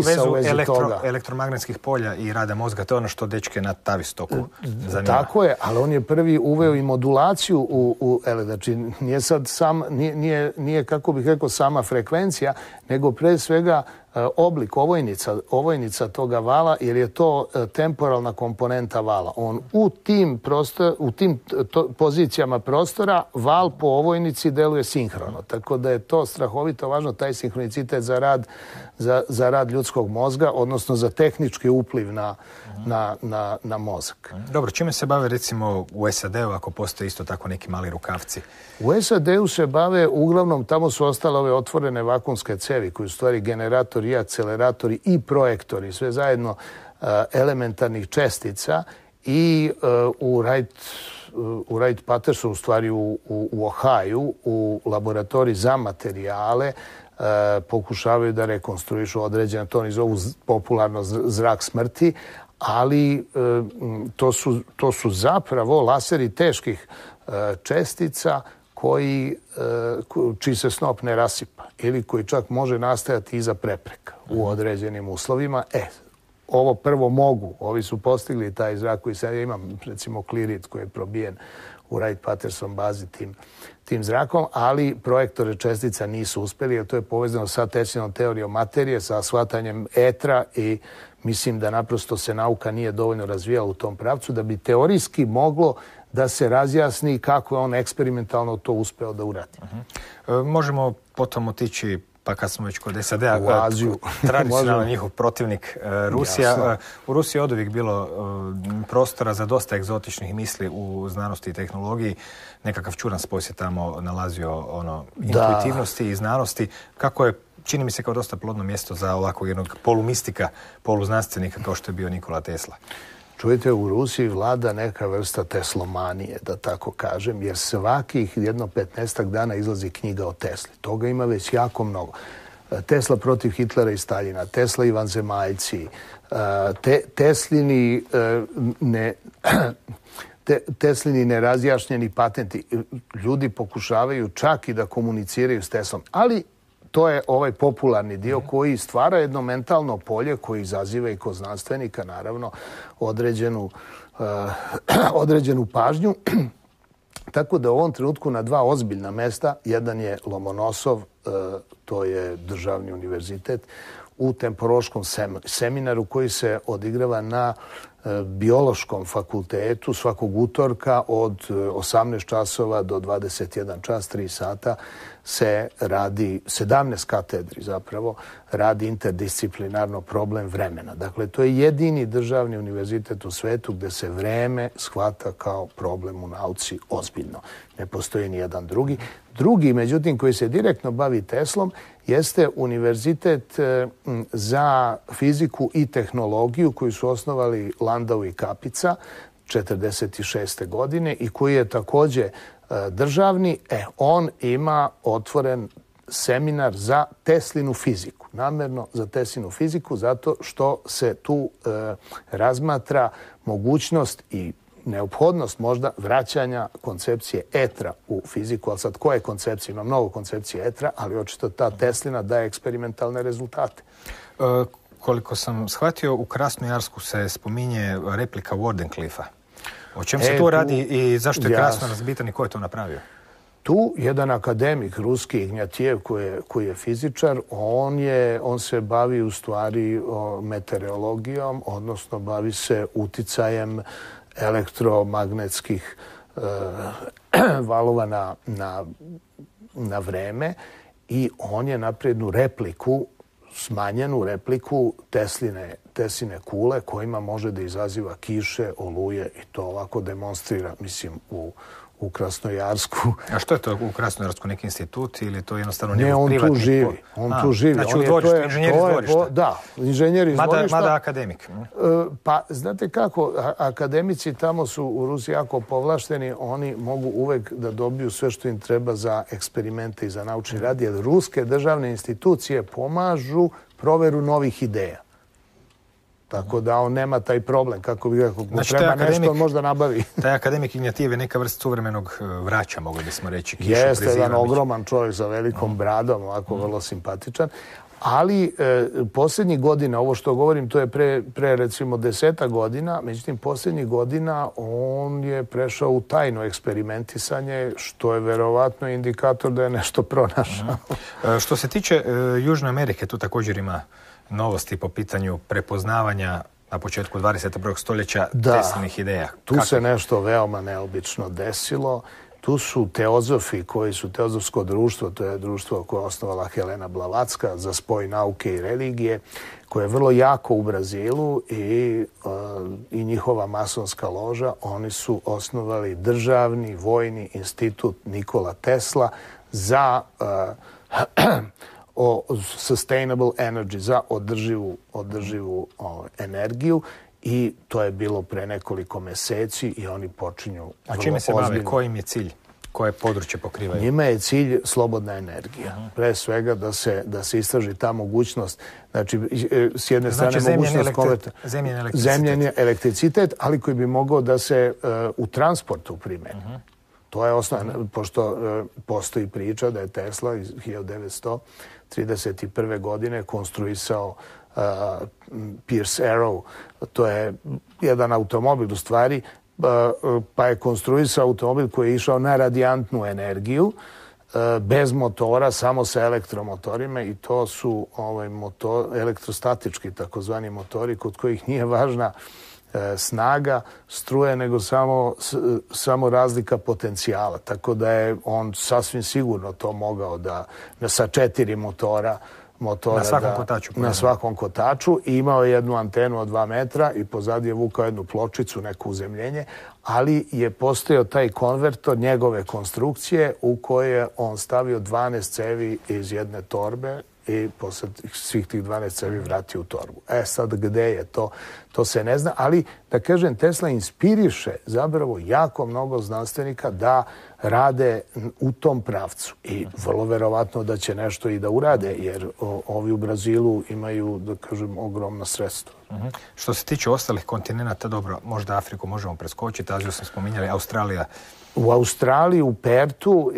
elektromagnetskih polja i rada mozga. To je ono što dečke na Tavistocku zanima. Tako je, ali on je prvi uveo i modulaciju znači nije sad nije, kako bih rekao, sama frekvencija, nego pre svega oblik ovojnica toga vala, jer je to temporalna komponenta vala. On u tim pozicijama prostora val po ovojnici deluje sinhrono. Tako da je to strahovito važno, taj sinhronicitet za rad ljudskog mozga, odnosno za tehnički upliv na mozak. Dobro, čime se bave recimo u SAD-u ako postoje isto tako neki mali rukavci? U SAD-u se bave, uglavnom tamo su ostale ove otvorene vakumske cevi koji su stvari generatori i akceleratori i projektori, sve zajedno elementarnih čestica i u Wright-Pattersonu, u stvari u Ohaju, u laboratoriji za materijale, pokušavaju da rekonstruišu određene, to oni zovu popularno zrak smrti, ali to su zapravo laseri teških čestica čiji se snop ne rasipa ili koji čak može nastajati iza prepreka u određenim uslovima. Ovo prvo mogu. Ovi su postigli taj zrak koji sad imam, recimo klirit koji je probijen u Wright-Patterson bazi tim zrakom, ali projektore čestica nisu uspeli, jer to je povezano sa Teslinom teorijom materije, sa shvatanjem etra i mislim da naprosto se nauka nije dovoljno razvijala u tom pravcu da bi teorijski moglo da se razjasni kako je on eksperimentalno to uspeo da uradi. Možemo potom otići, pa kad smo već kod SAD-a, u Aziju. Tradicionalno njihov protivnik Rusija. Jasno. U Rusiji je oduvijek bilo prostora za dosta egzotičnih misli u znanosti i tehnologiji. Nekakav čudan spoj se tamo nalazio intuitivnosti i znanosti. Kako je, čini mi se kao dosta plodno mjesto za ovakvog jednog polumistika, poluznanstvenika kao što je bio Nikola Tesla. Čujete, u Rusiji vlada neka vrsta teslomanije, da tako kažem, jer svakih 15 dana izlazi knjiga o Tesli. Toga ima već jako mnogo. Tesla protiv Hitlera i Staljina, Tesla i vanzemaljci, Teslini nerazjašnjeni patenti. Ljudi pokušavaju čak i da komuniciraju s Teslom, ali to je ovaj popularni dio koji stvara jedno mentalno polje koji izaziva i kod znanstvenika, naravno, određenu pažnju. Tako da u ovom trenutku na dva ozbiljna mesta, jedan je Lomonosov, to je državni univerzitet, u temporoškom seminaru koji se odigrava na biološkom fakultetu svakog utorka od 18 časova do 21 čas, 3 sata se radi, 17 katedri zapravo, radi interdisciplinarno problem vremena. Dakle, to je jedini državni univerzitet u svetu gde se vreme shvata kao problem u nauci ozbiljno. Ne postoji ni jedan drugi. Drugi, međutim, koji se direktno bavi Teslom, jeste Univerzitet za fiziku i tehnologiju koju su osnovali Landau i Kapica 1946. godine i koji je također državni. On ima otvoren seminar za Teslinu fiziku. Namjerno za Teslinu fiziku zato što se tu razmatra mogućnost i neophodnost možda vraćanja koncepcije etra u fiziku. Ali sad koje koncepcije? Ima mnogo koncepcije etra, ali očito ta Teslina daje eksperimentalne rezultate. Koliko sam shvatio, u Krasnojarsku se spominje replika Wardenclyffa. O čem se tu radi i zašto je Krasnojarsk bitan i ko je to napravio? Tu jedan akademik ruski, Ignjatijev, koji je fizičar, on se bavi u stvari meteorologijom, odnosno bavi se uticajem elektromagnetskih valova na vreme i on je napravio jednu repliku, smanjenu repliku Tesline kule kojima može da izaziva kiše, oluje i to ovako demonstrira, mislim, u Krasnojarsku. A što je to u Krasnojarsku? Neki institut ili je to jednostavno njegov privatni? Ne, on tu živi. Znači u dvorištu, inženjer iz dvorišta. Da, inženjer iz dvorišta. Mada akademik. Pa, znate kako, akademici tamo su u Rusiji jako povlašteni, oni mogu uvek da dobiju sve što im treba za eksperimente i za naučni rad, jer ruske državne institucije pomažu proveru novih ideja. Tako da on nema taj problem, kako bi rekao, treba nešto možda nabavi. Taj akademik Ignjatijev je neka vrsta suvremenog vraća, mogli bismo reći. Jeste jedan ogroman čovjek sa velikom bradom, ovako vrlo simpatičan. Ali posljednjih godina, ovo što govorim, to je pre recimo 10 godina, međutim posljednjih godina on je prešao u tajno eksperimentisanje, što je verovatno indikator da je nešto pronašao. Što se tiče Južne Amerike, tu također ima novosti po pitanju prepoznavanja na početku 21. stoljeća Teslinih ideja. Tu se nešto veoma neobično desilo. Tu su teozofi koji su teozofsko društvo, to je društvo koje je osnovala Helena Blavatska za spoj nauke i religije, koje je vrlo jako u Brazilu i njihova masonska loža. Oni su osnovali državni vojni institut Nikola Tesla za sustainable energy, za održivu energiju. I to je bilo pre nekoliko meseci i oni počinju... A čime se bave? Koji im je cilj? Koje područje pokrivaju? Njima je cilj slobodna energija. Pre svega da se istraži ta mogućnost. Znači, s jedne strane mogućnost konverta... Zemljeni elektricitet, ali koji bi mogao da se u transportu primeni. To je osnovno, pošto postoji priča da je Tesla iz 1931. godine konstruisao Pierce Arrow, to je jedan automobil u stvari, pa je konstruisao automobil koji je išao na radijantnu energiju, bez motora, samo sa elektromotorima i to su elektrostatički takozvani motori kod kojih nije važna snaga struje, nego samo razlika potencijala. Tako da je on sasvim sigurno to mogao da sa 4 motora na svakom kotaču i imao je jednu antenu od 2 metra i pozadi je vukao jednu pločicu, neko uzemljenje, ali je postojao taj konvertor njegove konstrukcije u koje je on stavio 12 cevi iz jedne torbe i posle svih tih 12 cevi vratio u torbu. Sad gde je to se ne zna, ali da kažem, Tesla inspiriše zapravo jako mnogo znanstvenika da rade u tom pravcu i vrlo verovatno da će nešto i da urade, jer ovi u Brazilu imaju, da kažem, ogromna sredstva. Što se tiče ostalih kontinenta, dobro, možda Afriku možemo preskočiti, Aziju smo spominjali, Australija. U Australiji, u Pertu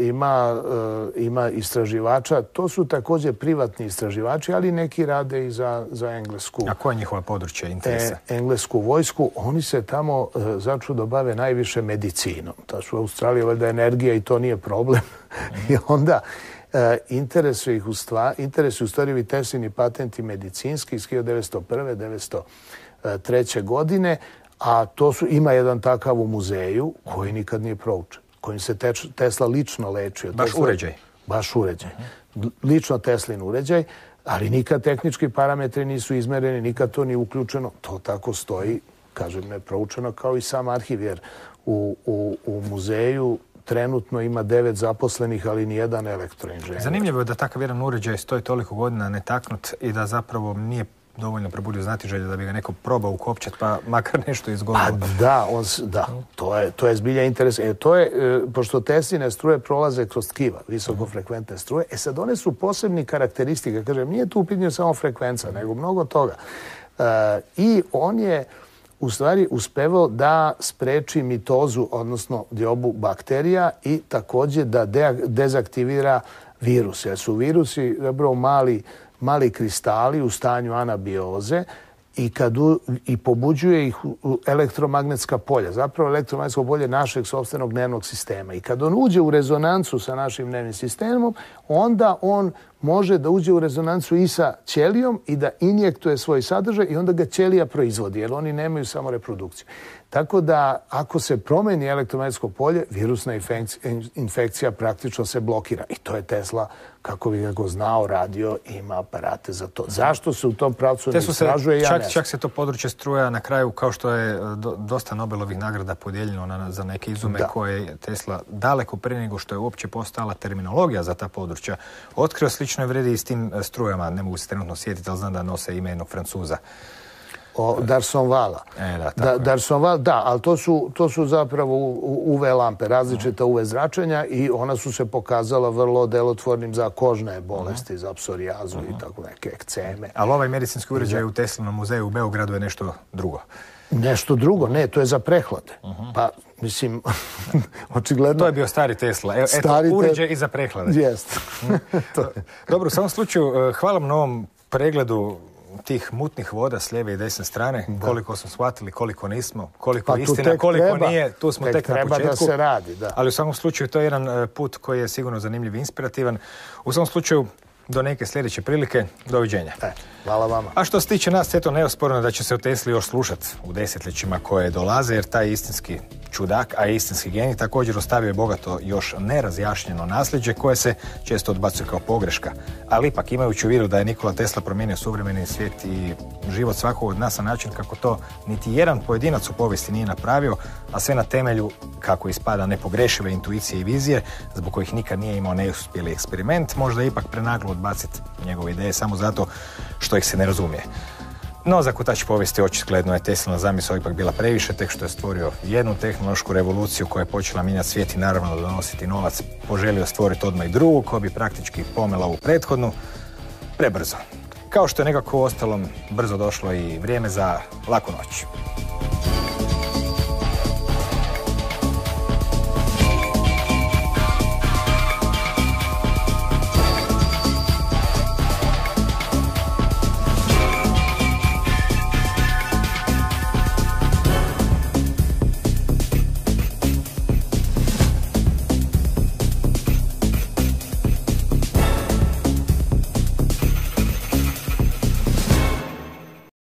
ima istraživača. To su također privatni istraživači, ali neki rade i za Englesku. A koje je njihova područje interesa? Englesku vojsku. Oni se tamo začudo bave najviše medicinom. U Australiji je valjda energija i to nije problem. I onda interesuju u stvari ovi Teslini patenti medicinski iz 1901. 1903. godine. A ima jedan takav u muzeju koji nikad nije proučen, kojim se Tesla lično lečio. Baš uređaj. Lično Teslin uređaj, ali nikad tehnički parametri nisu izmereni, nikad to nije uključeno. To tako stoji, kažem, neproučeno kao i sam arhiv, jer u muzeju trenutno ima 9 zaposlenih, ali nijedan elektroinženjer. Zanimljivo je da takav jedan uređaj stoji toliko godina netaknut i da zapravo nije dovoljno probudio znatiželje da bi ga neko probao ukopčat, pa makar nešto izgledalo. To je zbilja interes. Pošto Tesline struje prolaze kroz tkiva, visokofrekventne struje, sad one su posebni karakteristike. Kažem, nije tu u pitanju samo frekvenca, nego mnogo toga. I on je u stvari uspevao da spreči mitozu, odnosno diobu bakterija i također da dezaktivira virus. Jer su virusi zapravo mali kristali u stanju anabioze i pobuđuje ih elektromagnetska polja. Zapravo elektromagnetsko polje našeg sopstvenog nervnog sistema. I kad on uđe u rezonancu sa našim nervnim sistemom, onda on može da uđe u rezonancu i sa ćelijom i da injektuje svoj sadržaj i onda ga ćelija proizvodi, jer oni nemaju samo reprodukciju. Tako da, ako se promeni elektromagnetsko polje, virusna infekcija praktično se blokira. I to je Tesla, kako bi ga znao, radio i ima aparate za to. Zašto se u tom pravcu ne istražuje? Čak se to područje struja na kraju, kao što je dosta Nobelovih nagrada podijeljeno za neke izume koje je Tesla daleko prije nego što je uopće postala terminologija za ta područja otkrio. Slično je vredi i s tim strujama. Ne mogu se trenutno sjetiti, ali znam da nose ime jednog Francuza. Darsonvala. Darsonval, da, ali to su zapravo UV lampe, različita UV zračenja i ona su se pokazala vrlo delotvornim za kožne bolesti, za psorijazu i tako neke ekceme. Ali ovaj medicinski uređaj u Teslinom muzeju u Beogradu je nešto drugo. Nešto drugo, ne, to je za prehlade. Pa, mislim, očigledno... To je bio stari Tesla. Eto, uređaj i za prehlade. Jest. Dobro, u samom slučaju, hvala vam na ovom pregledu tih mutnih voda s lijeve i desne strane, koliko smo shvatili, koliko nismo, koliko istina, koliko nije, tu smo tek na početku. Da se radi, da. Ali u svakom slučaju to je jedan put koji je sigurno zanimljiv i inspirativan. U svakom slučaju, do neke sljedeće prilike, doviđenja. Hvala vama. A što se tiče nas, eto, neosporno da će se o Tesli još slušati u desetljećima koje dolaze, jer taj istinski čudak, a istinski genij također ostavio je bogato još nerazjašnjeno nasljeđe koje se često odbacuje kao pogreška. Ali ipak, imajući u vidu da je Nikola Tesla promijenio suvremeni svijet i život svakog od nas na način kako to niti jedan pojedinac u povijesti nije napravio, a sve na temelju, kako ispada, nepogrešive intuicije i vizije, zbog kojih nikad nije imao neuspjeli eksperiment, možda je ipak prenaglo odbaciti njegove ideje samo zato što ih se ne razumije. No, za kotač povijesti očigledno je Teslina zamisao ipak bila previše, tek što je stvorio jednu tehnološku revoluciju koja je počela mijenjati svijet i naravno donositi novac, poželio stvoriti odmah i drugu koja bi praktički pomela ovu prethodnu prebrzo. Kao što je nekako u ostalom brzo došlo i vrijeme za laku noć.